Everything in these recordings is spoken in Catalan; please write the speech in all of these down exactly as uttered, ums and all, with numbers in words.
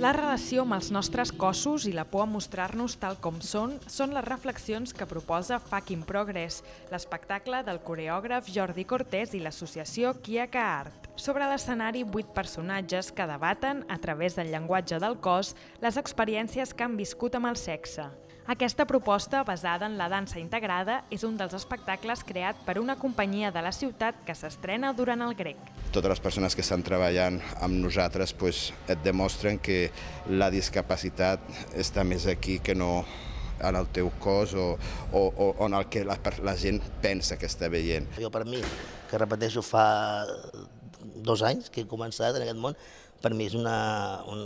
La relació amb els nostres cossos i la por a mostrar-nos tal com són són les reflexions que proposa Fuck in Progress, l'espectacle del coreògraf Jordi Cortés i l'associació Kiaka Art. Sobre l'escenari, vuit personatges que debaten, a través del llenguatge del cos, les experiències que han viscut amb el sexe. Aquesta proposta, basada en la dansa integrada, és un dels espectacles creat per una companyia de la ciutat que s'estrena durant el Grec. Totes les persones que estan treballant amb nosaltres pues, et demostren que la discapacitat està més aquí que no en el teu cos o, o, o en el que la, la gent pensa que està veient. Jo per mi, que repeteixo fa dos anys que he començat en aquest món, per mi és una, un,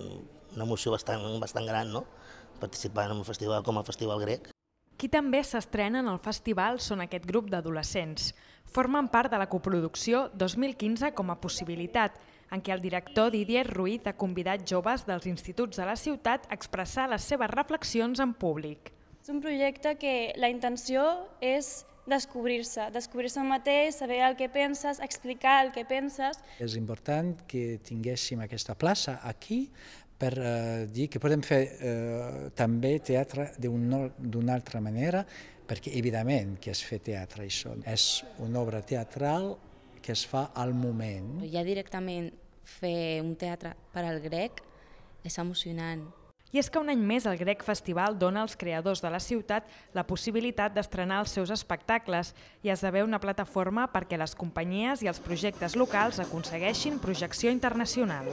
una emoció bastant, bastant gran, no? Participar en un festival com el Festival Grec. Qui també s'estrena en el festival són aquest grup d'adolescents. Formen part de la coproducció dos mil quinze com a possibilitat, en què el director Didier Ruiz ha convidat joves dels instituts de la ciutat a expressar les seves reflexions en públic. És un projecte que la intenció és descobrir-se, descobrir-se el mateix, saber el que penses, explicar el que penses. És important que tinguéssim aquesta plaça aquí per eh, dir que podem fer eh, també teatre d'una altra manera, perquè evidentment que es fa teatre, això és una obra teatral que es fa al moment. Ja directament fer un teatre per al Grec és emocionant. I és que un any més el Grec Festival dona als creadors de la ciutat la possibilitat d'estrenar els seus espectacles i esdevé una plataforma perquè les companyies i els projectes locals aconsegueixin projecció internacional.